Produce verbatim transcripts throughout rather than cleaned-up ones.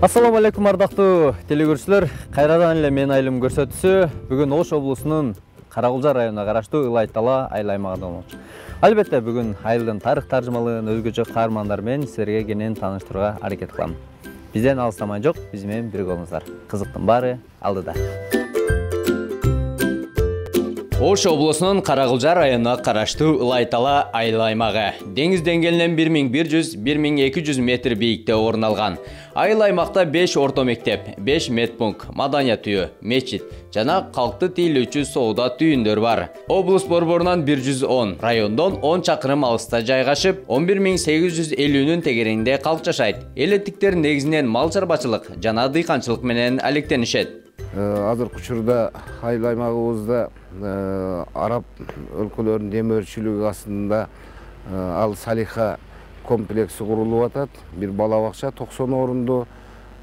Ассаламу алейкум ардактуу телекөрүүчүлөр. Кайрадан эле мен айылым көрсөтүүсү бүгүн Ош облусунун Каракулжа районуна караштуу Ылай Тала айыл аймагында болмокчу. Албетте бүгүн айылдын тарых таржымалыгын өзгөчө каармандар менен силерге кенен тааныштырууга аракет кылам. Бизден алыстамай жок, биз менен бирге болуңуздар. Кызыктын баары алдыда. Ош облусунун Каракулжа районуна караштуу Ылай Тала айыл аймагы деңиз деңгээлинен бир миң бир жүз — бир миң эки жүз метр бийиктикте орун алган. Айыл аймакта беш орто мектеп, беш медпункт, маданият үйү, мечит жана калкты тейлөөчү соода түйүндөр бар. Облус борборунан бир жүз он, райондон он чакырым алыста жайгашып, он бир миң сегиз жүз элүүнүн тегерегинде калк жашайт. Элеттиктер негизинен мал чарбачылык жана дыйканчылык менен алектенишет. Азыркы учурда айыл аймагыбызда араб өлкөлөрүнүн демөөрчүлүгү астында ал Салиха комплекси курулуп атат. Бир бала бакча токсон орунду,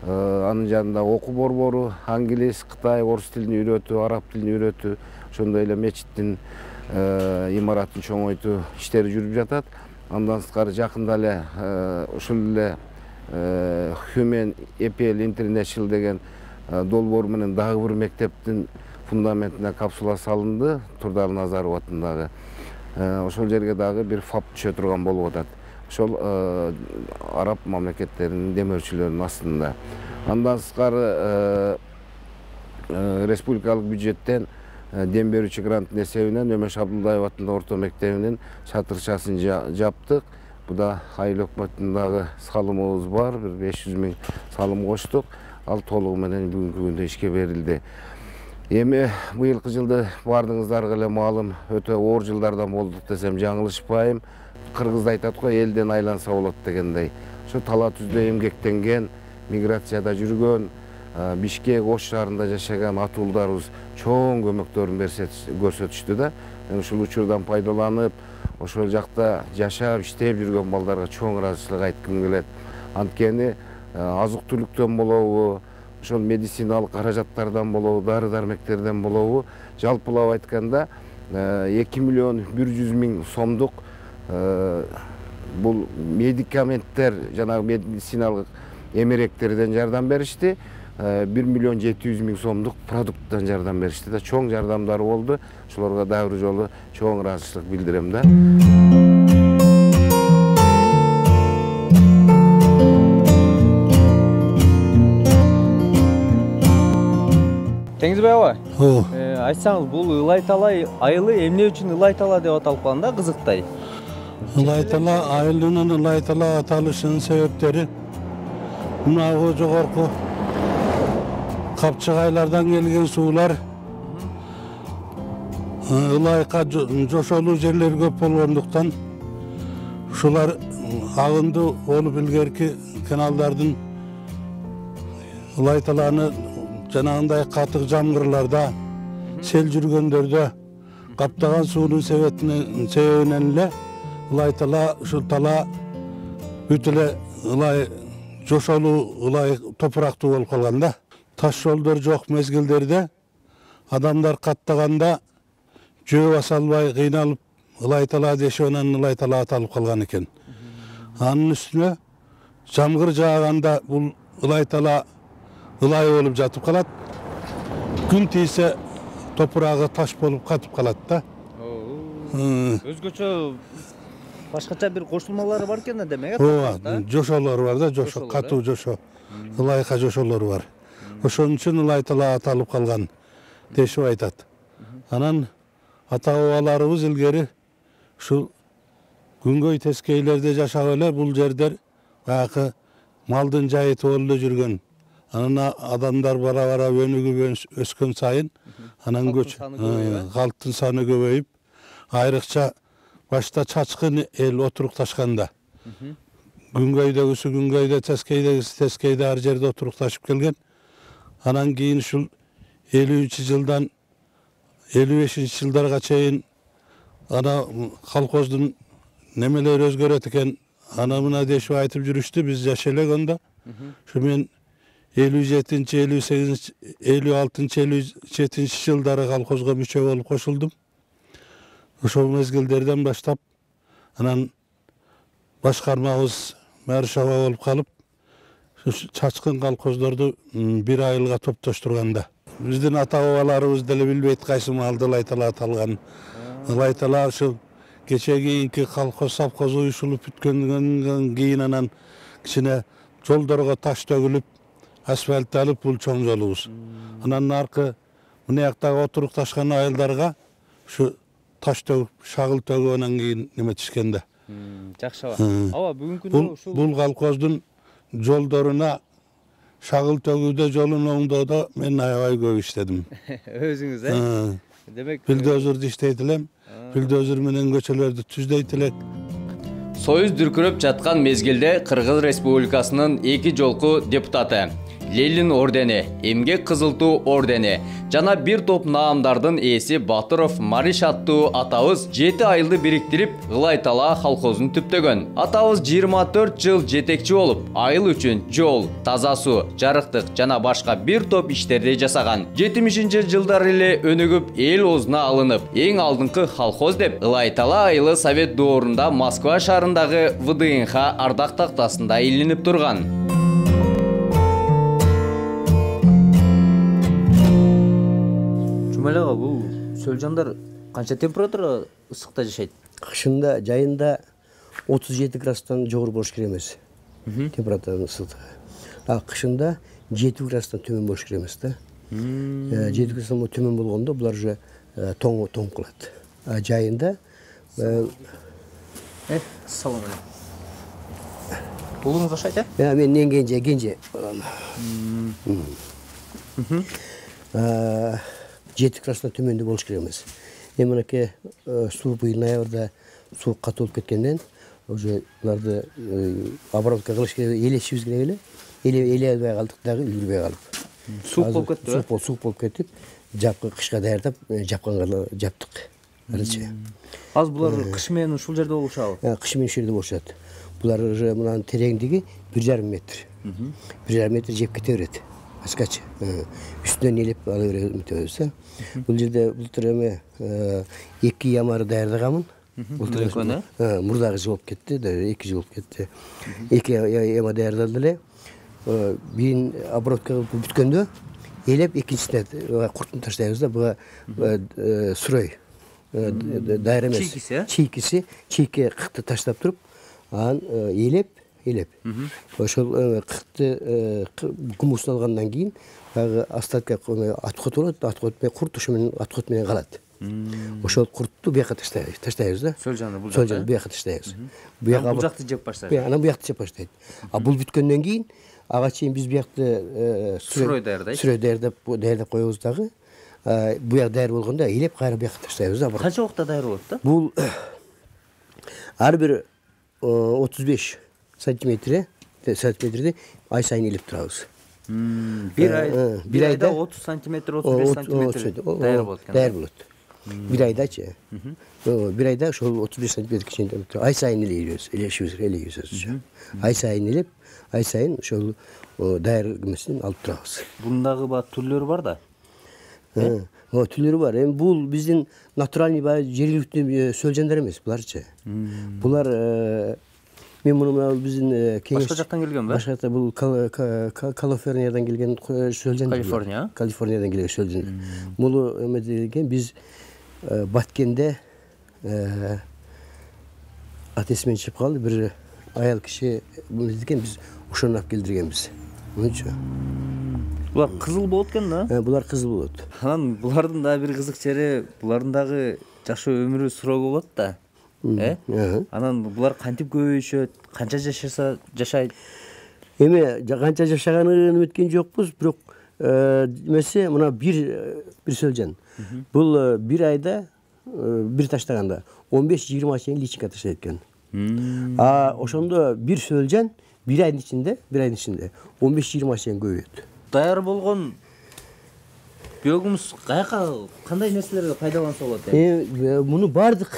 анын жанында окуу борбору, англис, кытай, орус тилин үйрөтүү, араб тилин үйрөтүү, ошондой эле мечиттин имаратын чоңойтуу иштери жүрүп жатат. Андан сырткары жакында эле ушул эле Human Apple International деген долбоор менен дагы бир мектептин фундаментине капсула салынды, Турдал Назаров атындагы. Ошол жерге дагы бир фап түшө турган болуп атат. Ошол араб мамлекеттеринин демөөрчүлөрүнүн астында. Андан сырткары республикалык бюджеттен дем берүүчү гранттын эсебинен Өмөш Абдулдаев атындагы орто мектебинин чатырчасын жаптык. Буда айыл өкмөтүнүн дагы салымыбыз бар, бир беш жүз миң салым коштук. Ал толугу менен бүгүнкү күндө ишке берилди. Эми быйылкы жылды баардыгыңыздарга эле маалым, өтө оор жылдардан болдук десем жаңылышпайм. Кыргызда айтат го, элден айланса болот дегендей. Ошо тала түздө эмгектенген, миграцияда жүргөн, Бишкек, Ош шаарында жашаган ата уулдарыбыз чоң көмөктөрүн көрсөтүштү да. Ушул учурдан пайдаланып, ошол жакта жашап, иштеп жүргөн балдарга чоң ыраазычылык айткым келет. Анткени азык-түлүктөн болобу, ошол медициналык каражаттардан болобу, дары-дармектерден болобу, жалпылап айтканда эки миллион бир жүз миң сомдук бул медикаменттер, жанагы медициналык эмеректерден жардам беришти. бир миллион жети жүз миң сомдук продукттан жардам беришти да, чоң жардамдары болду. Ошолорго дагы бир жолу чоң ыраазычылык билдирем да. Теңизбай аба, айтсаңыз, бул Ылай Тала айылы эмне үчүн Ылай Тала деп аталып калган да, кызыктай? Ылай Тала айылынын Ылай Тала аталышынын себептери мынау жогорку капчыгайлардан келген суулар ылайка жошолуу жерлер көп болгондуктан ушулар агынды болуп илгерки каналдардын Ылай Таланы жанагындай катык жамгырларда, сел жүргөндөрдө каптаган суунун себебинен эле Ылай Тала, ушул тала бүт эле ылай жошолуу, ылай топурактуу болуп калган да. Таш жолдор жок мезгилдерде адамдар каттаганда жөө баса албай кыйналып Ылай Тала дешип анан Ылай Тала аталып калган экен. Анын үстүнө жамгыр жааганда бул Ылай Тала ылай болуп жатып калат. Күн тийсе топурагы таш болуп катып калат да. Өзгөчө башкача бир кошулмалары бар экен да, демек. Ооба, жошолор бар да, жошо, катуу жошо. Ылайка жошолор бар. Ошон үчүн Ылай Тала аталып калган дешип айтат. Анан ата-бабаларыбыз илгери ушул күнгөй тескейлерде жашап эле бул жердер баягы малдын жайыты болуп эле жүргөн. Анан адамдар бара-бара өнүгүп өскөн сайын анан көч калктын саны көбөйүп, айрыкча башта чачкын эл отурукташканда. Күнгөйдөгүсү күнгөйдө, тескейдегиси тескейде ар жерде отурукташып келген. Анан кийин ушул элүүнчү жылдан элүү бешинчи жылдарга чейин ана колхоздун немелери өзгөрөт экен, ана мына дешип айтып жүрүштү, биз жаш элегенде. Ушу мен элүү жетинчи, элүү сегизинчи, элүү алтынчы, элүү жетинчи жылдары колхозго мүчө болуп кошулдум. Ошол мезгилдерден баштап анан башкармабыз Маршава болуп калып, чачкын колхоздорду бир айылга топтоштурганда биздин ата бабаларыбыз деле билбейт кайсы маалда Ылайтала аталган. Ылайтала ушул кече кийинки колхоз совхоз уюшулуп бүткөндөн кийин анан кичине жолдорго таш төгүлүп, асфальтталып бул чоң жолубуз. Анан аркы мынаяктагы отурукташкан айылдарга ушу таш төгүп, шагыл төгүп анан кийин неметишкен да. Жакшы аба. Аба бүгүнкү күндө ушул бул колхоздун жолдоруна шагыл төгүүдө, жолун оңдоодо мен аябай көп иштедим. Өзүңүз, э? Демек, билдозурду иштейт элем. Билдозур менен көчөлөрдү түздөйт элек. Союз дүркүрөп жаткан мезгилде Кыргыз Республикасынын эки жолку депутаты Ленин ордени, Эмгек Кызыл Туу ордени жана бир топ наамдардын ээси Батыров Мариш аттуу атабыз жети айылды бириктирип Ылайтала колхозун түптөгөн. Атабыз жыйырма төрт жыл жетекчи болуп, айыл үчүн жол, таза суу, жарыктык жана башка бир топ иштерди жасаган. жетимишинчи жылдары эле өнүгүп, эл оозуна алынып, эң алдыңкы колхоз деп Ылайтала айылы Совет доорунда Москва шаарындагы вэ дэ эн ха ардак тактасында илинип турган. Жумалага бул сөлжандар канча температура ысыкта жашайт? Кышында, жайында отуз жети градустан жогору болуш керек эмес. Температура ысыктыгы. А кышында жети градустан төмөн болуш керек эмес да. жети градустан төмөн болгондо булар уже тоң тоң кылат. А жайында э салам алейкум. Уулуңуз жашайт, э? Мен эң кенже, кенже. жети градустан төмөндө болуш керек эмес. Эми мынакей суу быйыл ноябрда суу катуу болуп кеткенден уже буларды обработка кылыш керек, элешибиз керек эле. Эле эле албай калдык дагы, үлгүрбөй калып. Суук болуп кетти, суук болуп, суук болуп кетип, жапкы кышка даярдап, жапканга жаптык. Арачы. Азыр булар кыш менен ушул жерде болушабы? Кыш менен ушул жерде болушат. Булар уже мынанын тереңдиги бир жарым метр. бир жарым метр жеп кете берет. Аскачы. Үстүнөн элеп ала беребиз. Бул жерде былтыр эме эки ямары даярдаганмын. Былтыр экөөнү? Мурдагы жыл болуп кетти, эки жыл болуп кетти. Эки яма даярдалды эле. Бирин обработка кылып бүткөндө элеп экинчисине куртун таштайбыз да, буга сурой. Дайыр эмес. Чийкиси, э? Чийкиси, чийке кыкты таштап туруп, анан элеп, элеп. Ошол кыкты гумусун алгандан кийин баягы остатка аткот болот, аткот менен курт ошо менен аткот менен калат. Ошол куртту бияка таштайбыз, таштайбыз да. Сөлжанды бул жакка. Сөлжанды бияка таштайбыз. Бияка бул жакты жеп баштайбыз. Анан буякты жеп баштайт. А бул бүткөндөн кийин ага чейин биз буякты сурой даярдайт. Сурой даярдап, даярдап коебуз дагы. Буяк даяр болгондо элеп кайра буякка таштайбыз да. Канча убакта даяр болот да? Бул ар бир отуз беш сантиметр, сантиметрди ай сайын элеп турабыз. Бир ай, бир айда отуз сантиметр, отуз беш сантиметр даяр болот экен. Даяр болот. Бир айдачы. Бир айда ошол отуз беш сантиметр кичине ай сайын элебиз, элешибиз, элебиз. Ай сайын элеп, ай сайын ошол даяр эмесин алып турабыз. Бундагы ба түрлөрү бар да? О, түрлөрү бар. Эми бул биздин натуральный баягы жергиликтүү сөлжандар эмес буларчы. Булар мен муну биздин кеңеш башка жактан келген ба? Башка жактан бул Калифорниядан келген сөлжан. Калифорния? Калифорниядан келген сөлжан. Муну эме деген биз Баткенде атесимен чыгып калды, бир аял киши муну деген биз ошону алып келдиргенбиз. Мынча. Булар кызыл болот экен да? Булар кызыл болот. Анан булардын дагы бир кызык жери, булардын дагы жашоо өмүрү суроо болот да. Э? Анан булар кантип көбөйүшөт, канча жашаса жашайт? Эми канча жашаганын өткөн жокпуз, бирок эмеси мына бир бир сөлжан. Бул бир айда бир таштаганда он беш жыйырма чейин личинка таштайт экен. А ошондо бир сөлжан бир айдын ичинде, бир айдын ичинде он беш жыйырма чейин көбөйөт. Даяр болгон биогумус каяка, кандай нерселерге пайдаланса болот? Эми муну бардык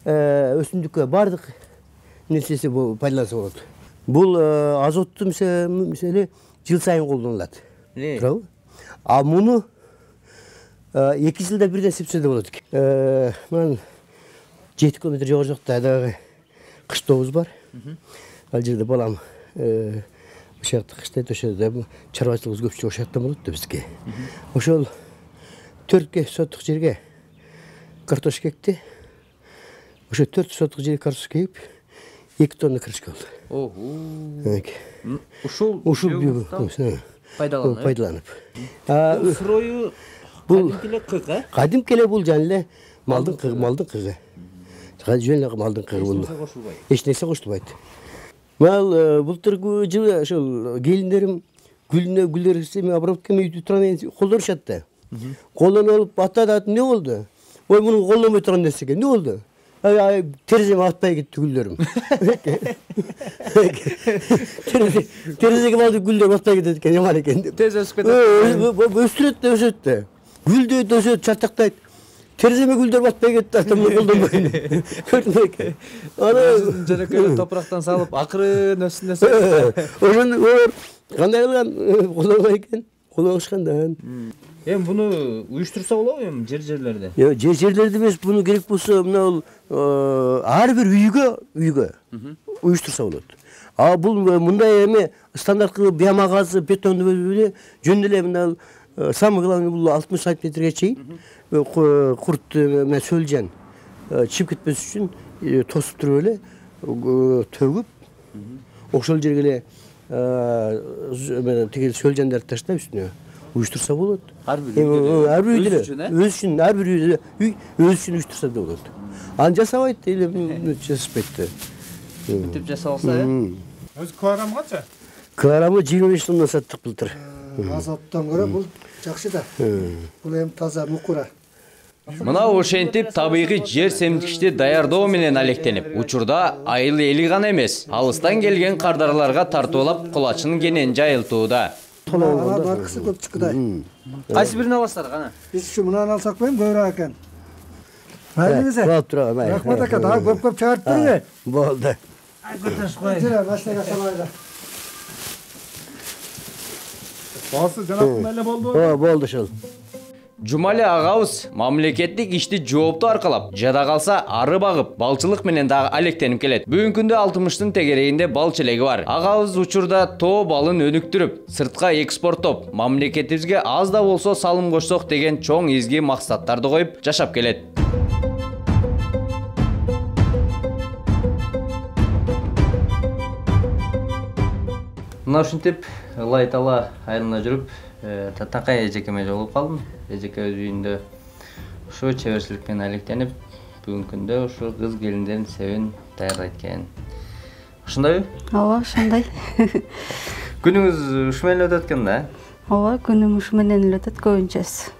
өсүмдүккө бардык нерсеси пайдаланса болот. Бул азотту мисалы жыл сайын колдонулат. Туурабы? А муну эки жылда бирден сепсе да болот экен. Мына жети километр жогору жакта дагы кыштообуз бар. Ал жерде балам ошол жакта кыштайт, ошол чарбачылыгыбыз көпчүлүк ошол жактан болот да бизге. Ошол төрт соток жерге картошка экти. Ошо төрт соток жерге картошка егип, эки тонна крышка болду. Ого. Ушул ушул пайдаланып. Пайдаланып. Бул сырою бул кыйк, э? Кадимки эле бул жана эле малдын кыгы, малдын кыгы. Жөн эле малдын кыгы бул. Эч нерсе кошулбайт. Мал былтыркы жылы ошол келиндерим гүлүнө гүлдөрү мен обработка үйдү турган колдонушат да. Колдонуп алып атат, эмне болду? Ой, муну колдонбой турган нерсе экен. Эмне болду? Тереземе атпай кетти гүлдөрүм. Терезеге малды гүлдөр атпай кетет экен, жаман экен деп. Тез өсүп кетет. Өстүрөт да өсөт да. Гүлдөйт, өсөт, чатактайт. Тереземе гүлдөр батпай кетти, атамды колдонбойм. Көрдүм экен. Аны жаракелеп топурактан салып, акырын өссүн десе. Ошону кандай кылган колдонбой экен? Колдонушкандан. Эми буну уюштурса болобу эми жер-жерлерде? Жок, жер-жерлерде эмес, буну керек болсо мына ар бир үйгө, үйгө уюштурса болот. А бул мындай эме стандарттуу биомагазы, бетонду бөлүп жөн эле мына самый главный бул алтымыш сантиметрге чейин курт менен сөлжен чыгып кетпес үчүн тосуп туруп эле төгүп, ошол жерге эле тиги сөлжендерди таштап үстүнө уюштурса болот. Ар бир үйдө. Ар бир үйдө. Өз үчүн, ар бир үйдө үй өз үчүн уюштурса да болот. Аны жасабайт, эле жасашпайт да. Бүтүп жасап алса, э? Өз килограмм канча? Килограммы жыйырма беш тонна саттык былтыр. Азоттон көрө бул жакшы да. Бул эми таза мукура. Мына ошентип табигый жер семдикичти даярдоо менен алектенип, учурда айыл эли гана эмес, алыстан келген кардарларга тартуулап кулачын кенен жайылтууда. Ана баркысы көп чыккыдай. Кайсы бирин аласыздар кана? Биз ушу мынаны алсак коем көбүрөөк экен. Майлыңыз. Болуп турабы, май. Рахмат ака, дагы көп-көп чыгарып бериңи. Болду. Көтөрүп коюң. Жыра, машинага салайлы. Басы жанагындай эле болду. О, болду ошол. Жумали агабыз мамлекеттик ишти жоопту аркалап, жада калса ары багып, балчылык менен дагы алектенип келет. Бүгүнкү күндө алтымыштын тегерегинде бал челеги бар. Агабыз учурда тоо балын өнүктүрүп, сыртка экспорттоп, мамлекетибизге аз да болсо салым кошсок деген чоң изги максаттарды коюп жашап келет. Мына ушинтип Ылайтала айылына жүрүп, Татакай эжекеме жолугуп калдым. Эжеке өз үйүндө ошо чеберчилик менен алектенип, бүгүнкү күндө ошо кыз келиндердин себин даярдайт экен. Ошондойбу? Ооба, ошондой. Күнүңүз ушу менен өтөт экен да? Ооба, күнүм ушу менен эле өтөт көбүнчөсү.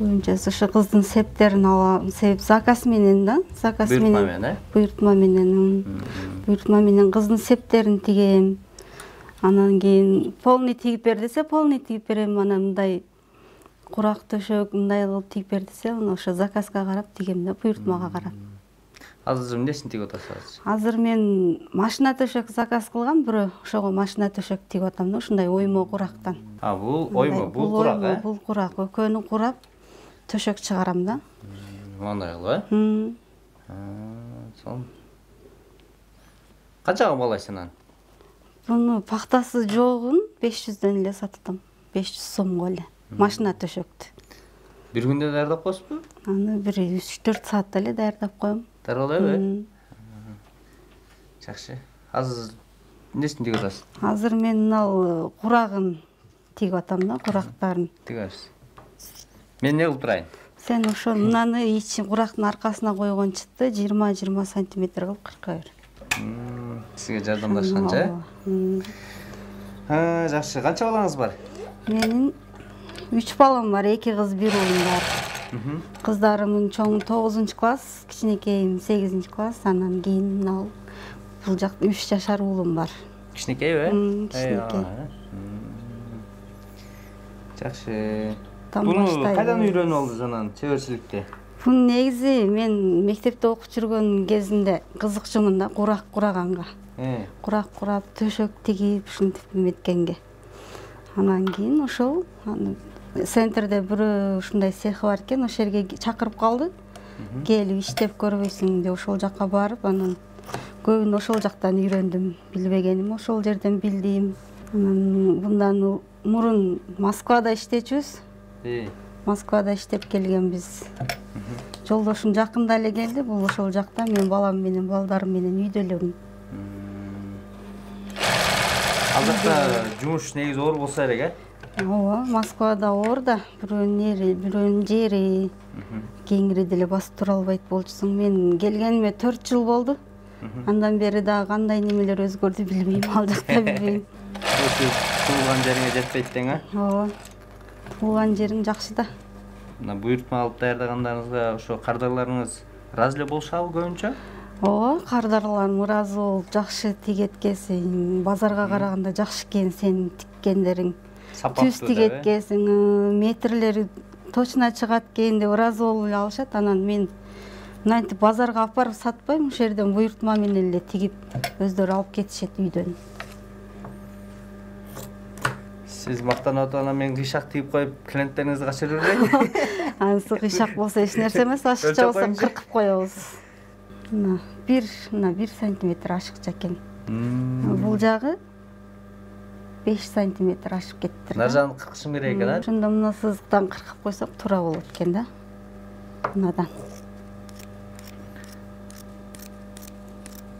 Көбүнчөсү ошо кыздын септерин алам, себеп заказ менен да, заказ менен. Буйртма менен, э? Буйртма менен. Буйртма менен кыздын септерин тигем. Анан кийин полный тигип бер десе, полный тигип берем. Анан мындай курак төшөк мындай кылып тигип бер десе, аны ошо заказга карап тигем да, буйртмага карап. Азыр эмнесин тигип атасыз? Азыр мен машина төшөк заказ кылгам, бирөө ошого машина төшөк тигип атам да, ушундай оймо курактан. А, бул оймо, бул курак, э? Бул курак, экөөнү курап төшөк чыгарам да. Мындай кылып, э? Сонун. Канчага балайсың аны? Буну пактасы жогун беш жүздөн эле саттым. беш жүз сомго эле. Машина төшөктү. Бир күндө даярдап коесузбу? Аны бир үч төрт саатта эле даярдап коем. Даярдайбы? Жакшы. Азыр эмнесин тигип атасыз? Азыр мен мынал курагын тигип атам да, курактарын. Тигесиз. Мен не кылып турайын? Сен ошо мынаны ичи курактын аркасына койгон чытты жыйырма жыйырма сантиметр кылып кырка бер. Сизге жардамдашканча? Ха, жакшы. Канча балаңыз бар? Менин үч балам бар, эки кыз, бир уулум бар. Кыздарымдын чоңу тогузунчу класс, кичинекейим сегизинчи класс, анан кийин мына бул жакта үч жашар уулум бар. Кичинекейби? Кичинекей. Жакшы. Буну кайдан үйрөнүп алдыңыз анан чеберчиликти? Бун негизи мен мектепте окуп жүргөн кезимде кызыкчумун да, курак кураганга. Курак курап, төшөк тигип, ушинтип эметкенге. Анан кийин ошол центрде бирөө ушундай цехи бар экен, ошол жерге чакырып калды. Келип иштеп көрбөйсүң деп ошол жакка барып, анан көбүн ошол жактан үйрөндүм. Билбегеним ошол жерден билдим. Анан мындан мурун Москвада иштечүбүз. Москвада иштеп келгенбиз. Жолдошум жакында эле келди. Бул ошол жакта мен балам менен, балдарым менен үйдө элемин. Ал жакта жумуш негизи оор болсо керек, э? Ооба, Москвада оор да, бирөөнүн ери, бирөөнүн жери кеңири деле басып тура албайт болчусуң. Мен келгениме төрт жыл болду. Андан бери дагы кандай немелер өзгөрдү билбейм, ал жакта билбейм. Туулган жериңе жетпейт дең, э? Ооба. Туулган жериң жакшы да. Мына буйртма алып даярдагандарыңызга ошо кардарларыңыз ыраазы эле болушабы көбүнчө? Ооба, кардарларым ыраазы болуп, жакшы тигет экенсиң, базарга караганда жакшы экен сенин тиккендериң. Түз тигет экенсиң, метрлери точно чыгат экен деп ыраазы болуп эле алышат. Анан мен мынтип базарга алып барып сатпайм, ошол жерден буйртма менен эле тигип өздөрү алып кетишет үйдөн. Сиз мактанып атып анан мен кыйшак тигип коюп, клиенттериңизди качырып берейин. Анысы кыйшак болсо эч нерсе эмес, ашыкча болсо кыркып коебуз. Мына бир, мына бир сантиметр ашыкча экен. Бул жагы беш сантиметр ашып кетти. Нар жагын кыркышым керек экен, а? Ошондо мына сызыктан кыркып койсок туура болот экен да. Мынадан.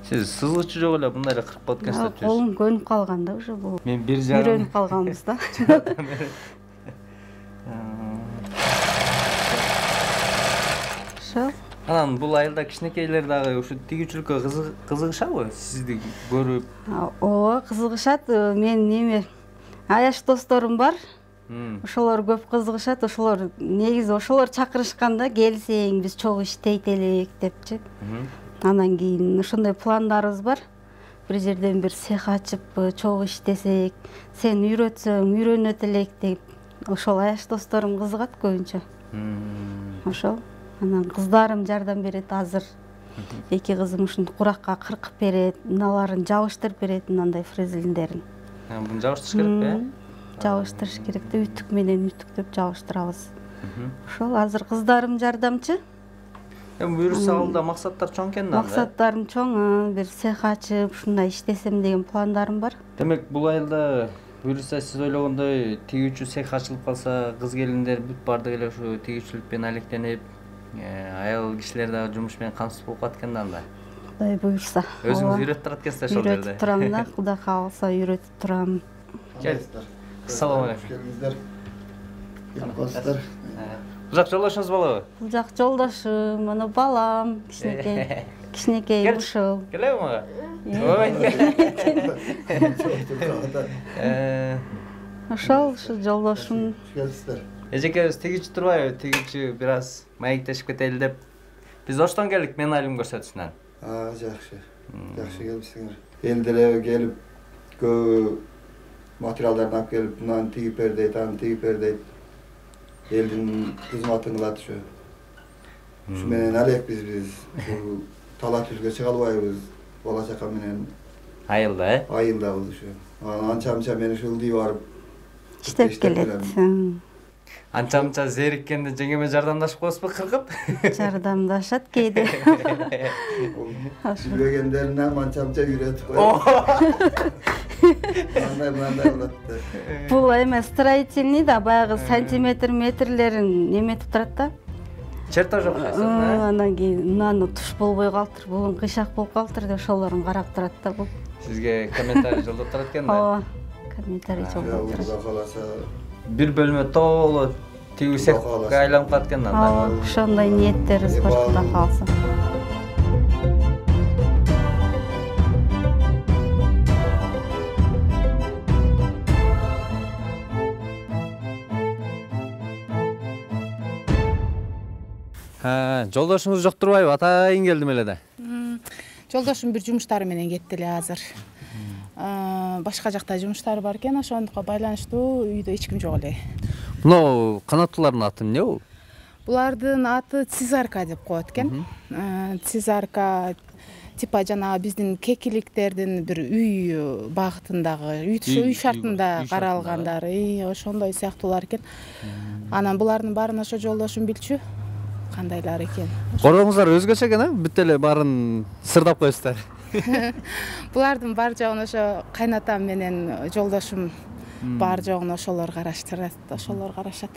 Сиз сызгычы жок эле мындай эле кыркып коет экенсиз. Колум көнүп калган да уже бул. Мен бир жагын үйрөнүп калганбыз да. Ошо. Анан бул айылда кичинекейлер дагы ушу тигүүчүлүккө кызыгышабы? Сизди көрүп? Ооба, кызыгышат. Мен неме аяш досторум бар. Ошолор көп кызыгышат. Ошолор негизи ошолор чакырышканда келсең биз чогуу иштейт элек депчи. Анан кийин ошондой пландарыбыз бар. Бир жерден бир цех ачып, чогуу иштесек, сен үйрөтсөң, үйрөнөт элек деп. Ошол аяш досторум кызыгат көбүнчө. Ошол. Анан кыздарым жардам берет азыр. Эки кызым ушинтип куракка кыркып берет, мыналарын жабыштырып берет, мындай фрезелиндерин. Буну жабыштырыш керек, э? Жабыштырыш керек да, үтүк менен үтүктөп жабыштырабыз. Ошол азыр кыздарым жардамчы. Эми буюрса алда максаттар чоң экен да. Максаттарым чоң, бир цех ачып, ушундай иштесем деген пландарым бар. Демек, бул айылда буюрса сиз ойлогондой тигүүчү цех ачылып калса, кыз келиндер бүт бардык эле ушу тигүүчүлүк менен алектенип, айыл кишилер дагы жумуш менен камсыз болуп калат экен да анда. Кудай буюрса. Өзүңүз үйрөтүп турат экенсиз ошол жерде. Үйрөтүп турам да, Кудай кааласа үйрөтүп турам. Ассалам алейкум. Келиңиздер. Келип калсыздар. Бул жак жолдошуңуз болобу? Бул жак жолдошум, мына балам, кичинекей. Кичинекей ушул. Келеби мага? Ой. Ошол, ушу жолдошум. Келсиздер. Эжекебиз тигичи турбайбы? Тигичи бир аз маектешип кетели деп. Биз Оштон келдик, мен айылым көрсөтүшүнөн. А, жакшы. Жакшы келипсиңер. Эл деле келип көп материалдарды алып келип, мынаны тигип бер дейт, аны тигип бер дейт. Элдин кызматын кылат ушу. Ушу менен алекпиз биз. Талаа түзгө чыга албайбыз. Бала чака менен. Айылда, э? Айылдабыз ушу. Анча-мынча мен ушул үй барып иштеп келет. Анча-мынча зериккенде жеңеме жардамдашып коесузбу кыркып? Жардамдашат кээде. Билбегендерин анча-мынча үйрөтүп коет. Мындай мындай болот деп. Бул эме строительный да, баягы сантиметр метрлерин неметип турат да. Чертож окуйсуз, э? Анан кийин мынаны туш болбой калыптыр, бул кыйшак болуп калыптыр деп ошолорун карап турат да бул. Сизге комментарий жолдоп турат экен да? Ооба. Комментарий жолдоп турат. Кудай кааласа Бир бөлмө толо тигүү цехке айланып калат экен да. Ооба, ошондой ниеттерибиз бар, Кудай кааласа. Жолдошуңуз жок турбайбы? Атайын келдим эле да. Жолдошум бир жумуштары менен кетти эле азыр. Башка жакта жумуштары бар экен, ошондукка байланыштуу үйдө эч ким жок эле. Мына канаттуулардын аты эмне бул? Булардын аты цизарка деп коет экен. Цизарка типа жанагы биздин кекиликтердин бир үй багытындагы, үй шартында каралгандар, ошондой сыяктуулар экен. Анан булардын баарын ошо жолдошум билчү. Кандайлар экен. Корооңуздар өзгөчө экен, а? Бүт эле баарын сырдап коесуздар. Булардын бар жогун ошо кайнатам менен жолдошум бар жогун ошолор караштырат, ошолор карашат.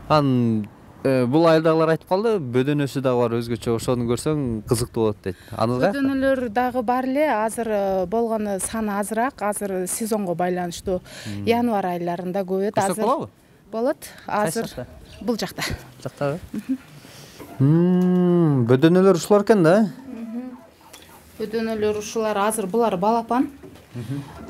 Анан бул айылдагылар айтып калды, бөдөнөсү дагы бар өзгөчө, ошону көрсөң кызыктуу болот дейт. Аныңызга? Бөдөнөлөр дагы бар эле, азыр болгону саны азыраак, азыр сезонго байланыштуу январь айларында көп. Көрсөк болобу? Болот. Азыр бул жакта. Жактабы? Бөдөнөлөр ушулар экен да? Бөдөнөлөр ушулар, азыр булар балапан.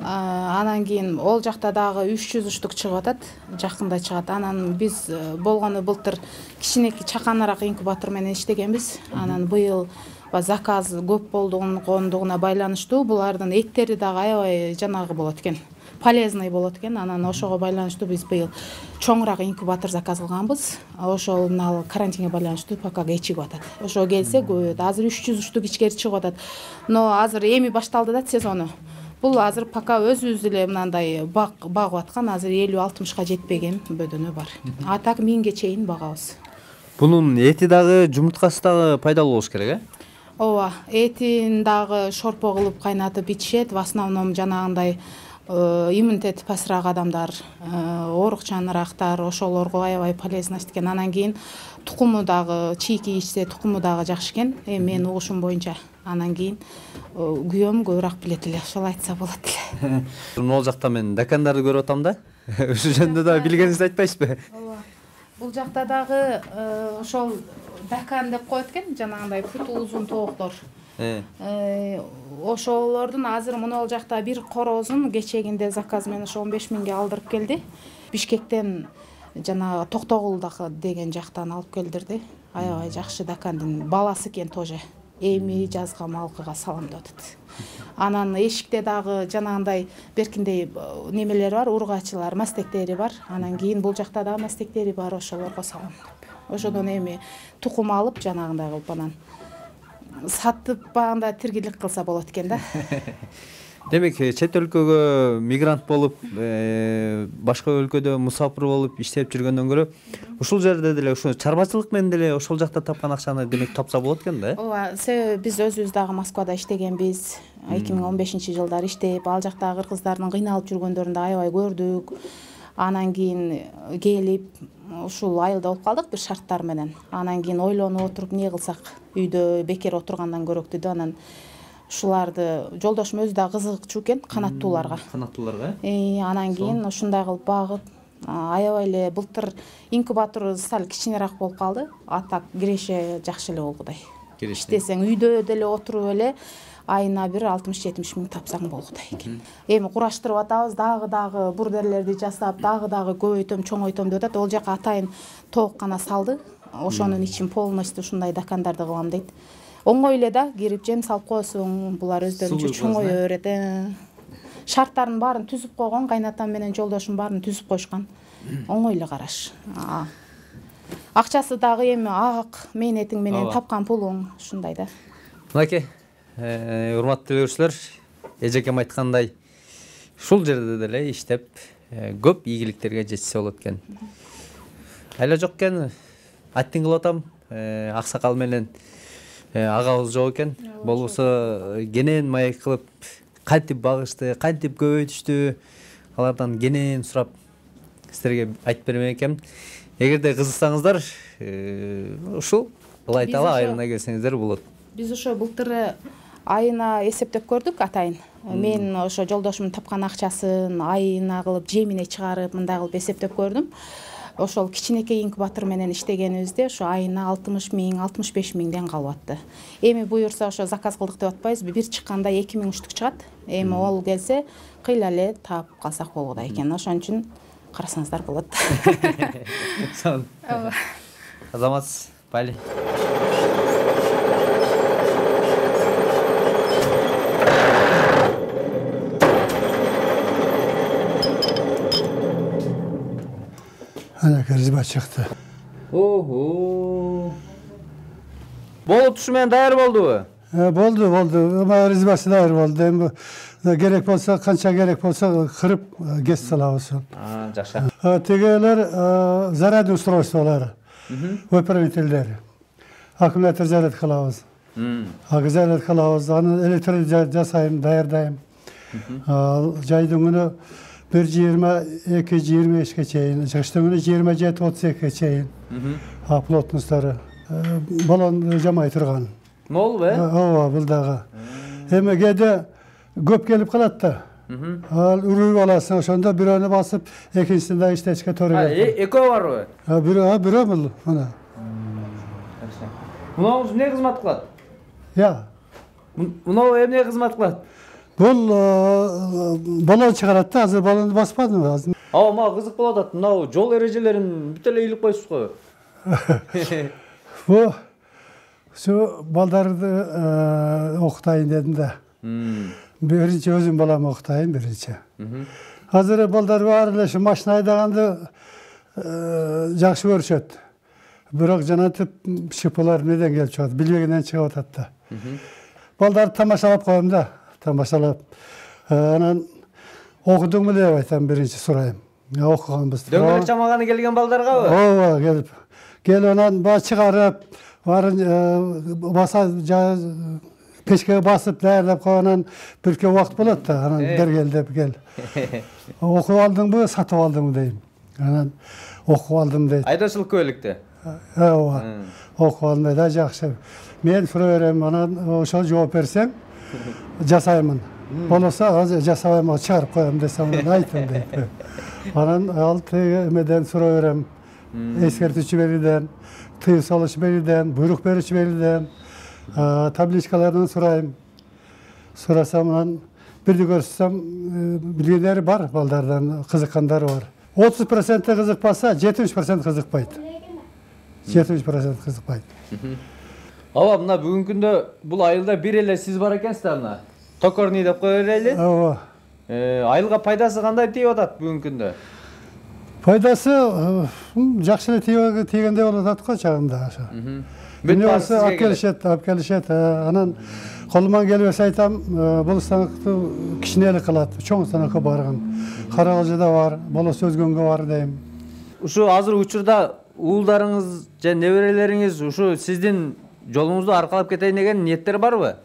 Анан кийин ол жакта дагы үч жүз штук чыгып атат, жакында чыгат. Анан биз болгону былтыр кичинекей чаканараак инкубатор менен иштегенбиз. Анан быйыл заказ көп болгондугуна байланыштуу булардын эттери дагы аябай жанагы болот экен. Полезный болот экен. Анан ошого байланыштуу биз быйыл чоңураак инкубатор заказ кылганбыз. Ошол мына карантинге байланыштуу пока кечигип атат. Ошо келсе көбөйөт. Азыр үч жүз штук ичкери чыгып атат. Но азыр эми башталды да сезону. Бул азыр пока өзүбүз эле мындай багып аткан, азыр элүү алтымышка жетпеген бөдөнө бар. А так миңге чейин багабыз. Бунун эти дагы, жумурткасы дагы пайдалуу болуш керек, э? Ооба, этин дагы шорпо кылып кайнатып ичишет. В основном жанагындай иммунитети пасыраак адамдар, оорукчанырактар, ошолорго аябай полезность экен. Анан кийин тукуму дагы, чийки ичсе тукуму дагы жакшы экен. Эми менин угушум боюнча. Анан кийин күйөөм көбүрөөк билет эле, ошол айтса болот эле. Могул жакта мен дакандарды көрүп атам да. Ошол жөнүндө да билгениңизди айтпайсызбы? Ооба. Бул жакта дагы ошол дакан деп коет экен, жанагындай путу узун тооктор. Ошолордун азыр мына ол жакта бир корозун кечегинде заказ менен ошо он беш миңге алдырып келди. Бишкектен жанагы Токтогулдагы деген жактан алып келдирди. Аябай жакшы дакандын баласы экен тоже. Эми жазга малкыга салам деп атат. Анан эшикте дагы жанагындай беркиндей немелер бар, ургачылар, мастектери бар. Анан кийин бул жакта дагы мастектери бар, ошолорго салам деп. Ошодон эми тукум алып жанагындай кылып анан сатып багында тиргилик кылса болот экен да. Демек, чет өлкөгө мигрант болуп, башка өлкөдө мусафир болуп иштеп жүргөндөн көрө, ушул жерде деле ошо чарбачылык менен деле ошол жакта тапкан акчаны демек тапса болот экен да, э? Ооба, себеби биз өзүбүз дагы Москвада иштегенбиз. эки миң он бешинчи жылдары иштеп, ал жактагы кыргыздардын кыйналып жүргөндөрүн да аябай көрдүк. Анан кийин келип, ушул айылда болуп калдык бир шарттар менен. Анан кийин ойлонуп отуруп, эмне кылсак, үйдө бекер отургандан көрөктү да. Анан ушуларды жолдошум өзү да кызыкчу экен канаттууларга. Канаттууларга? Э, анан кийин ушундай кылып багып, аябай эле былтыр инкубатор сал кичинерээк болуп калды. А так киреше жакшы эле болгудай. Иштесең үйдө деле отуруп эле айына бир алтымыш жетимиш миң тапсаң болгудай экен. Эми кураштырып атабыз, дагы дагы бурдерлерди жасап, дагы дагы көбөйтөм, чоңойтом деп атат. Ол жака атайын тоок гана салды. Ошонун ичин полностью ушундай дакандарды кылам дейт. Оңой эле да, кирип жем салып коесуң, булар өздөрүнчө чоңое берет. Шарттарын баарын түзүп койгон, кайнатам менен жолдошум баарын түзүп коюшкан. Оңой эле караш. Акчасы дагы эми ак, мээнетиң менен тапкан пулуң, ушундай да. Мынакей, урматтуу көрүүчүлөр, эжекем айткандай, ушул жерде деле иштеп, көп ийгиликтерге жетсе болот экен. Айла жок экен, аттин кылып атам, аксакал менен агабыз жок экен. Болбосо кенен маек кылып, кантип багышты, кантип көбөйтүштү, алардан кенен сурап силерге айтып бермек экенмин. Эгерде кызыксаңыздар, ушул Ылайтала айылына келсеңиздер болот. Биз ошо былтыр айына эсептеп көрдүк атайын. Мен ошо жолдошумдун тапкан акчасын айына кылып жемине чыгарып, мындай кылып эсептеп көрдүм. Ошол кичинекей инкубатор менен иштегенибизде ошо айына алтымыш миң, алтымыш беш миңден калып атты. Эми буюрса ошо заказ кылдык деп атпайбызбы? Бир чыкканда эки миң штук чыгат. Эми ол келсе кыйла эле таап калсак болгудай экен. Ошон үчүн карасаңыздар болот. Сон. Азаматсыз, бали. Ана кырзба чыкты. Ого. Болот ушу менен даяр болдубу? Э, болду, болду. Ама ризбасы даяр болду. Эми керек болсо, канча керек болсо кырып кес салабыз. А, жакшы. Тегелер зарядный устройстволор. Выправительдер. Аккумулятор заряд кылабыз. Агзалет кылабыз, аны электр жасайм, даярдайм. Ал жайдын күнү бир жыйырма эки жыйырма бешке чейин, кыштын күнү жыйырма жети отуз экиге чейин. Плотносттору балон жамай турган. Мол бе? Ооба, бул дагы. Эми кээде көп келип калат да. Ал үрүп аласың, ошондо бирөөнү басып, экинчисин да иштешке туура келет. Экөө барбы? Бирөө, бирөө бул, мына. Мунау эмне кызмат кылат? Я. Мунау эмне кызмат кылат? Бул балон чыгарат да, азыр балонду баспадым азыр. Ооба, мага кызык болуп атат. Мынау жол эрежелерин бүт эле ыйлып коюпсуз го. Бу şu балдарды окутайын дедим да. Биринчи өзүм балам окутайын биринчи. Азыр балдар баары эле ушу машина айдаганды жакшы көрүшөт. Бирок жанатып шыпылар неден келип чыгат, билбегенден чыгып атат да. Балдарды тамашалап коем да, тамашалап. Анан окудуңбу деп айтам, биринчи сурайм. Окуганбыз. Дөңгөлөк чамаганы келген балдаргабы? Ооба, келип. Келип анан баа чыгарып, баарын баса пешкеге басып даярдап койгонан бирке убакыт болот да, анан бергел деп кел. Окуп алдыңбы, сатып алдыңбы дейм. Анан окуп алдым дейт. Айдоочулук көбөлүктө. Ооба. Окуп алдым дейт, да жакшы. Мен сурап берем, анан ошол жооп берсең, жасаймын. Болосо азыр жасабайм, чыгарып коем десем, айтым дейт. Анан ал эмеден сурап берем. Эскертүүчү берүүдөн, тыюу салуучу берүүдөн, буйрук берүүчү берүүдөн, табличкалардан сурайм. Сурасам, анан бирди көрсөтсөм, билгендери бар, балдардан кызыккандары бар. отуз процент кызыкпаса, жетимиш процент кызыкпайт. жетимиш процент кызыкпайт. Ооба, мына бүгүнкү күндө бул айылда бир эле сиз бар экенсиз мына. Токорный деп кое берели. Ооба. Айылга пайдасы кандай тийип атат бүгүнкү күндө? Пайдасы жакшы эле тийгендей болуп атат го чагында ошо. Бүт баасы алып келишет, алып келишет. Анан колуман келбесе айтам, бул станокту кичинелик кылат, чоң станокко барган. Карагылжыда бар, болосо өзгөнгө бар дейм. Ушу азыр учурда уулдарыңыз же неберелериңиз ушу сиздин жолуңузду аркалап кетейин деген ниеттер барбы?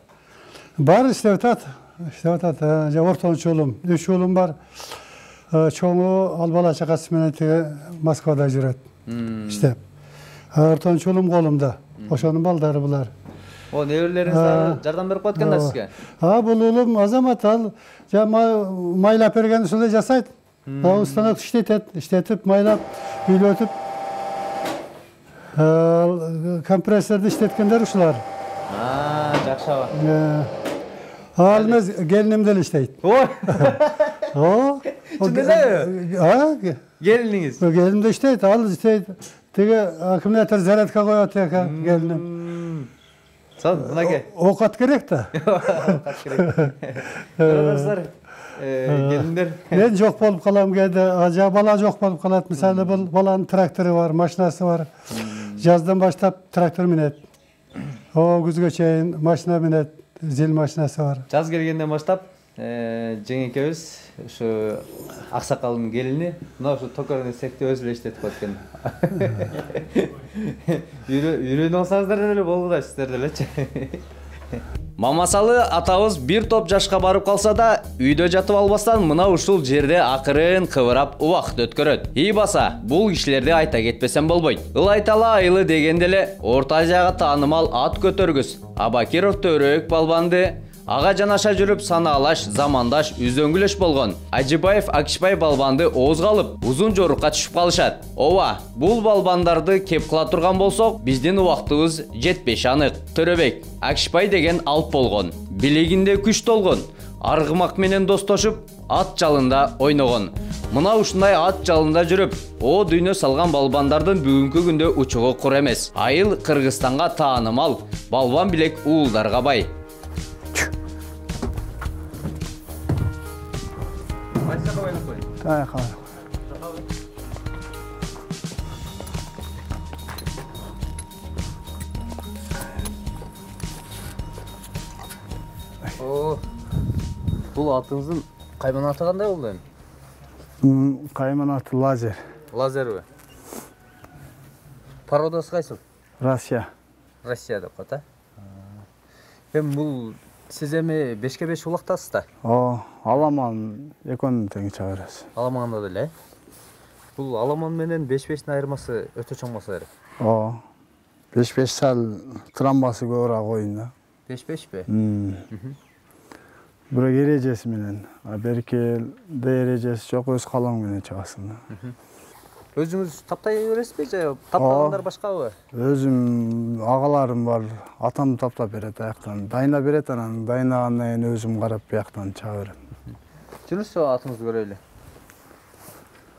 Бар, иштеп атат. Иштеп атат. Же ортончу уулум, үч уулум бар. Чоңу ал бала чакасы менен тиги Москвада жүрөт. Иштеп. Ортончу уулум колумда. Ошонун балдары булар. О, неберелериңиз дагы жардам берип коет экен да сизге. А, бул уулум Азамат, ал майлап берген ушундай жасайт. Ал станок иштетет, иштетип, майлап, үйлөтүп. Компрессорду иштеткендер ушулар. А, жакшы аба. Ал эмес, келиним деле иштейт. Ой. О. Чындабы? А, келиниңиз. Келиним да иштейт, ал иштейт. Тиги аккумулятор зарядка коет экен, келиним. Сон, мынаке. Окат керек да. Окат керек. Көрөсүздөр, келиндер. Мен жок болуп калам кээде, жа бала жок болуп калат. Мисалы, бул баланын трактору бар, машинасы бар. Жаздан баштап трактор минет. О, күзгө чейин машина минет, зил машинасы бар. Жаз келгенден баштап жеңекебиз ушу аксакалдын келини мына ушу токорный цехти өзү эле иштетип коет экен. Үйрөнүп алсаңыздар деле болду да сиздер делечи. Мамасалы атабыз бир топ жашка барып калса да, үйдө жатып албастан мына ушул жерде акырын кыбырап убакыт өткөрөт. И баса, бул кишилерди айта кетпесем болбойт. Ылайтала айылы дегенде эле Орто Азияга таанымал ат көтөргүс Абакиров Төрөк балбанды ага жанаша жүрүп санаалаш, замандаш, үзөңгүлөш болгон Ажибаев Акишбай балбанды оозго алып, узун жорукка түшүп калышат. Ооба, бул балбандарды кеп кыла турган болсок, биздин убактыбыз жетпеши анык. Төрөбек Акишбай деген алп болгон, билигинде күч толгон, аргымак менен достошуп, ат жалында ойногон. Мына ушундай ат жалында жүрүп, о дүйнө салган балбандардын бүгүнкү күндө учугу кур эмес. Айыл Кыргызстанга таанымал, балбан билек уулдарга бай. Кай кай. О, бул атыңыздын кайман аты кандай болду эми? Кайман аты Лазер. Лазерби? Породасы кайсыл? Россия. Россия деп коет, а? Эми бул сиз эми бешке беш улактасыз да? Ооба, аламан экөөнүн тең чыга беребиз. Аламанда деле. Бул аламан менен беш бештин айырмасы өтө чоң болсо керек. Ооба. беш беш сал трамбасы көбүрөөк оюн да. беш бешпи? Бирок эрежеси менен, а беркелде эрежеси жок, өз калаң менен чыгасың да. Өзүңүз таптай бересизби же таптагандар башкабы? Өзүм агаларым бар, атам таптап берет аяктан. Дайына берет, анан дайынагандан кийин өзүм карап бияктан чыга берем. Жүрүңүзчү атыңызды көрөлү.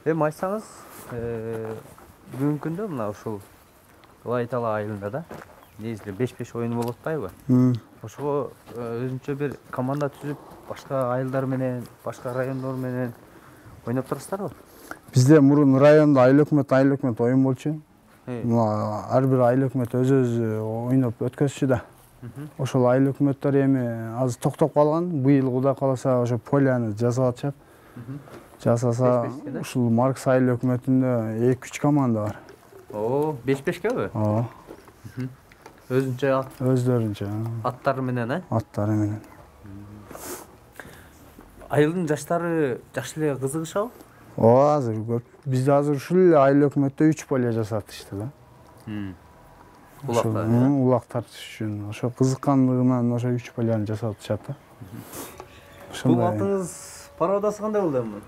Эми айтсаңыз, бүгүнкү күндө мына ушул Ылайтала айылында да негизи беш беш оюну болуп атпайбы? Ошого өзүнчө бир команда түзүп, башка айылдар менен, башка райондор менен ойноп турасыздарбы? Бизде мурун райондо айыл өкмөт, айыл өкмөт оюн болчу. Мына ар бир айыл өкмөт өз-өзү ойноп өткөзчү да. Ошол айыл өкмөттөр эми азыр токтоп калган. Быйыл Кудай кааласа ошо поляны жасап атышат. Жасаса, ушул Маркс айыл өкмөтүндө эки үч команда бар. О, беш бешкеби? Ооба. Өзүнчө ат. Өздөрүнчө. Аттары менен, э? Аттары менен. Айылдын жаштары жакшы эле кызыгышабы? Ооба, азыр көп. Бизде азыр ушул эле айыл өкмөттө үч поле жасатышты да. Улактар. Улактар үчүн. Ошо кызыккандыгынан ошо үч поляны жасап атышат да. Бул атыңыз пародасы кандай болду эми?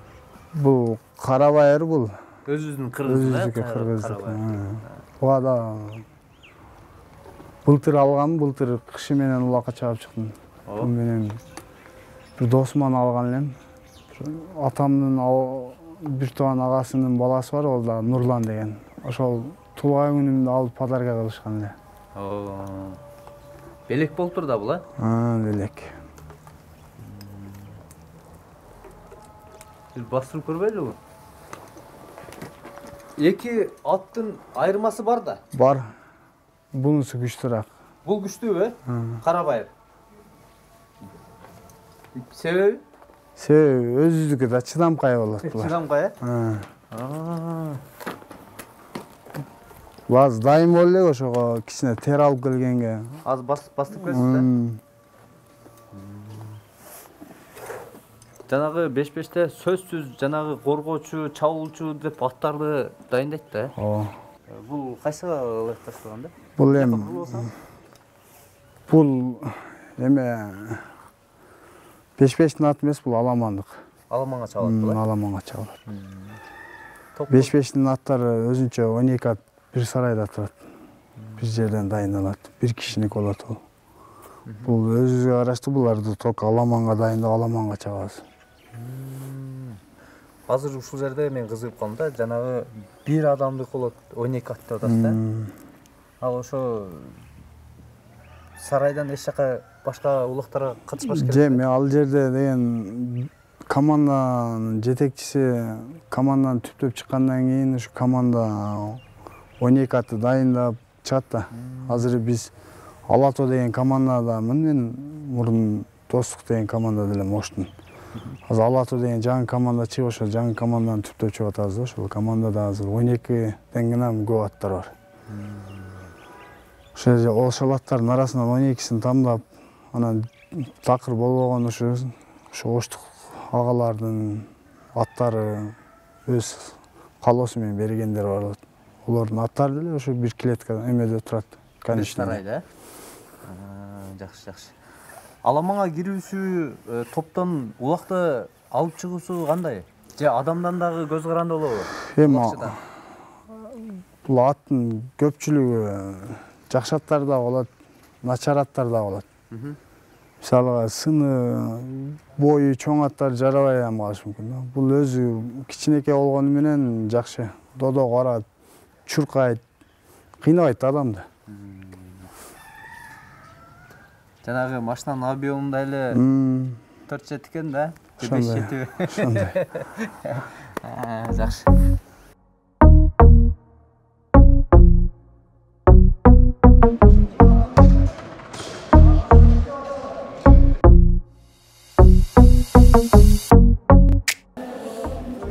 Бул Карабайыр бул. Өзүбүздүн кыргыздын, э? Өзүбүздүкү кыргыздык. Буга да былтыр алгам, былтыр кышы менен улакка чыгып чыктым. Бул менен бир досуман алган элем. Атамдын бир тууган агасынын баласы бар, ол да Нурлан деген. Ошол туулган күнүмдө алып подарка кылышкан эле. Белек болуптур да бул, э? А, белек. Бир бастырып көрбөйлүбү? Эки аттын айырмасы бар да? Бар. Бунусу күчтүүрөөк. Бул күчтүүбү, э? Карабайыр. Себеби? Себеби өзүздүкү да чыдамкай болот булар. Чыдамкай, э? Баз дайым болду эле ошого кичине тер алып келгенге. Аз бастып келсиз да? Жанагы беш беште сөзсүз жанагы коргоочу, чабуулчу деп аттарды дайындайт да, э? Ооба. Бул кайсыга ылайыкташтырган да? Бул эми бул эме беш бештин аты эмес, бул аламандык. Аламанга чабылат бул, э? Аламанга чабылат. беш бештин аттары өзүнчө он эки ат бир сарайда турат. Бир жерден дайындалат. Бир кишиники болот бул. Бул өзүбүзгө караштуу, буларды только аламанга дайындап, аламанга чабабыз. Азыр ушул жерде мен кызыгып калдым да, жанагы бир адамдык болот, он эки ат деп атасыз да? Ал ошо сарайдан эч жака башка улактарга катышпаш керек. Же, мен ал жерде деген команданын жетекчиси команданы түптөп чыккандан кийин ушу команда он эки атты дайындап чыгат да. Азыр биз Алато деген командадамын, мен мурун Достук деген командада элем Оштун. Азыр Алато деген жаңы команда чыгып, ошол жаңы команданы түптөп чыгып атабыз да. Ошол командада азыр он экиден гана көп аттар бар. Ошол ошол аттардын арасынан он экисин тамдап, анан такыр болбогон ушу ошо Оштук агалардын аттары өз калоосу менен бергендер бар. Олордун аттары деле ошо бир клеткада эмеде турат. Сарайда, э? Жакшы, жакшы. Аламанга кирүүсү, топтон улакты алып чыгуусу кандай? Же адамдан дагы көз каранды болобу? Эми бул аттын көпчүлүгү жакшы аттар да болот, начар аттар да болот. Мисалга сыны, бою чоң аттар жарабай ham калышы мүмкүн да. Бул өзү кичинекей болгону менен жакшы. Додо карат, чуркайт, кыйнабайт адамды. Жанагы машинанын объемундай эле төрт жет экен да? беш жетиби? Ошондой. Жакшы.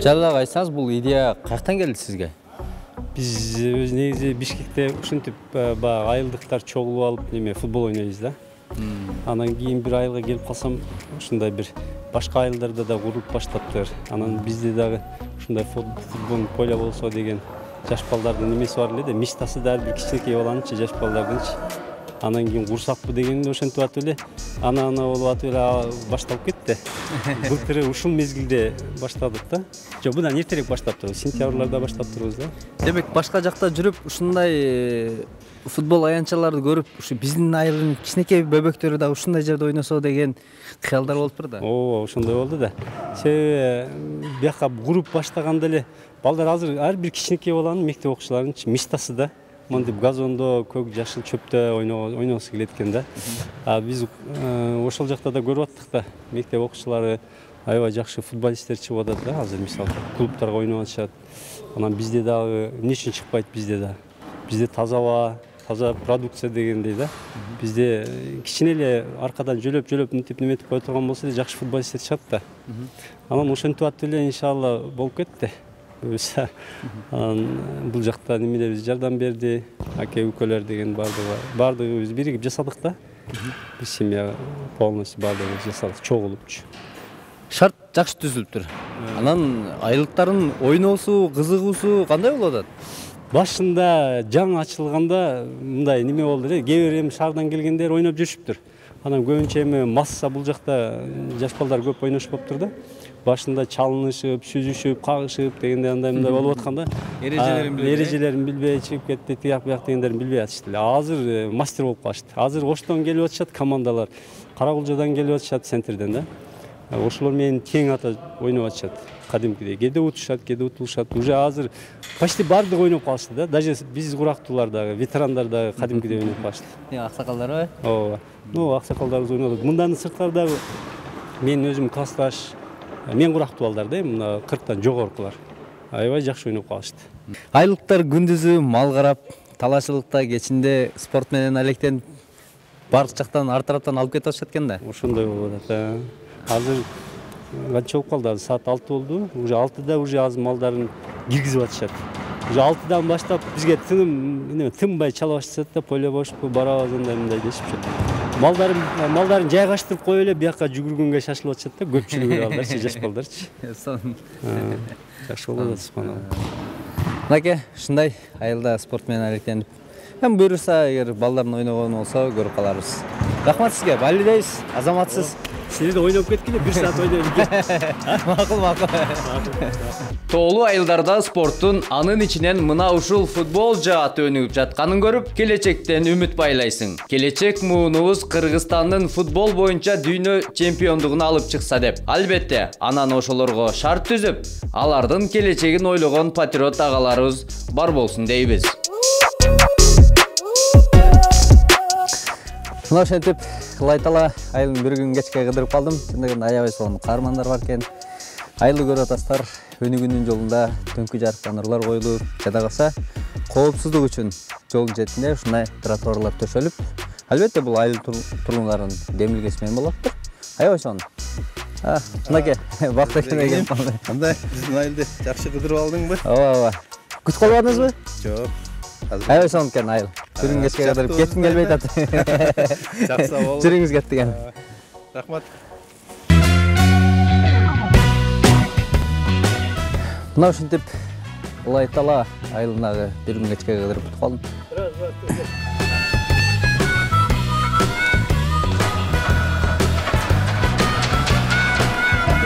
Жалал айтсаңыз, бул идея каяктан келди сизге? Биз негизи Бишкекте ушинтип баягы айылдыктар чогулуп алып неме футбол ойнойбуз да. Анан кийин бир айылга келип калсам, ушундай бир башка айылдарда да курулуп баштаптыр. Анан бизде дагы ушундай футбол поле болсо деген жаш балдардын немеси бар эле да, мечтасы да ар бир кичинекей баланынчы, жаш балдардынчы. Анан кийин курсакпы дегенде ошентип атып эле ана ана болуп атып эле башталып кетти. Былтыр ушул мезгилде баштадык да. Жок, мындан эртерээк баштаптырбыз, сентябрларда баштаптырбыз да. Демек башка жакта жүрүп ушундай футбол аянтчаларды көрүп, ушу биздин айылдын кичинекей бөбөктөрү да ушундай жерде ойносо деген кыялдар болуптур да. Ооба, ошондой болду да. Себеби бияка куруп баштаганда эле балдар азыр ар бир кичинекей баланын мектеп окуучуларынын мечтасы да. Мындып газондо, көк жашыл чөптө ойногусу келет экен да. А биз ошол жакта да көрүп аттык да. Мектеп окуучулары аябай жакшы футболисттер чыгып атат да, азыр мисалы клубтарга ойноп атышат. Анан бизде дагы эмне үчүн чыкпайт бизде да? Бизде таза аба, таза продукция дегендей да. Бизде кичине эле аркадан жөлөп-жөлөп мынтип неметип кое турган болсо эле жакшы футболисттер чыгат да. Анан ошентип атып эле иншалла болуп кетти. Анан бул жакта немелер биз жардам берди, аке укөлөр деген бардыгы бардыгыбыз биригип жасадык да. Биз семья полностью бардыгыбыз жасадык, чогулупчу. Шарт жакшы түзүлүптүр. Анан айылдыктардын ойноосу, кызыгуусу кандай болуп атат? Башында жаңы ачылганда мындай неме болду эле, кээ бир эми шаардан келгендер ойноп жүрүшүптүр. Анан көбүнчө эми масса бул жакта жаш балдар көп ойношпоптур да. Башында чалынышып, сүзүшүп, кагышып дегенде андай мындай болуп атканда эрежелерин билбей, эрежелерин билбей чыгып кетти, тияк бияк дегендерин билбей атышты эле. Азыр мастер болуп калышты. Азыр Оштон келип атышат командалар, Карагулжадан келип атышат, центрден да. Ошолор менен тең ата ойноп атышат. Кадимкидей кээде утушат, кээде утулушат. Уже азыр почти бардыгы ойноп калышты да. Даже биз курактуулар дагы, ветерандар дагы кадимкидей ойноп калышты. Аксакалдарбы? Ооба. Ну, аксакалдарыбыз ойнодук. Мындан сырткары дагы мен өзүм классташ, мен курактуу балдар да, мына кырктан жогорукулар. Аябай жакшы ойноп калышты. Айылдыктар күндүзү мал карап, талашылыкта, кечинде спорт менен алектенип, бардык жактан ар тараптан алып кетип атышат экен да. Ошондой болуп атат. Азыр канча болуп калды? Саат алты болду. Уже алтыда уже азыр малдарын киргизип атышат. Уже алтыдан баштап бизге тыным, тынбай чала башташат да, поле бошпу, барабыз андай мындай дешипчи. Малдарын малдарын жайгаштырып коюп эле бияка жүгүргөнгө шашылып атышат да, көпчүлүгү балдарчы, жаш балдарчы. Жакшы болуп атат, субханалла. Мынакей, ушундай айылда спорт менен алектенип, эми буюрса, эгер балдардын ойногону болсо көрүп каларбыз. Рахмат сизге, балидейсиз, азаматсыз. Сиз да ойноп кеткиле, бир саат ойноп кетти. Макул, макул. Тоолуу айылдарда спорттун анын ичинен мына ушул футбол жааты өнүгүп жатканын көрүп, келечектен үмүт байлайсың. Келечек муунубуз Кыргызстандын футбол боюнча дүйнө чемпиондугун алып чыкса деп. Албетте, анан ошолорго шарт түзүп, алардын келечегин ойлогон патриот агаларыбыз бар болсун дейбиз. Мына ошентип Лайтала айылын бир күн кечке кыдырып калдым. Чындыгында аябай сонун каармандар бар экен. Айылды көрүп атасыздар. Өнүгүүнүн жолунда төңкү жарыктан нурлар коюлуп, жада калса коопсуздук үчүн жолдун четинде ушундай тротуарлар төшөлүп, албетте бул айыл тургундарынын демилгеси менен болоптур. Аябай сонун. А, мынакей, бакта келген калды. Кандай? Биздин айылды жакшы кыдырып алдыңбы? Ооба, ооба. Күтүп калбадыңызбы? Жок. Аябай сонун экен айыл. Бир күн кечке кыдырып кетким келбей атат. Жакса болду. Жүрүңүз кетти экен. Рахмат. Мына ушинтип Лайтала айылындагы бир күн кечке кыдырып бүтүп калдым.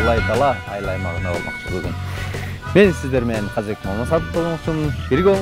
Лайтала айыл аймагына болмокчу бүгүн. Мен сиздер менен Казбек Мамасатов болмокчумун. Бирге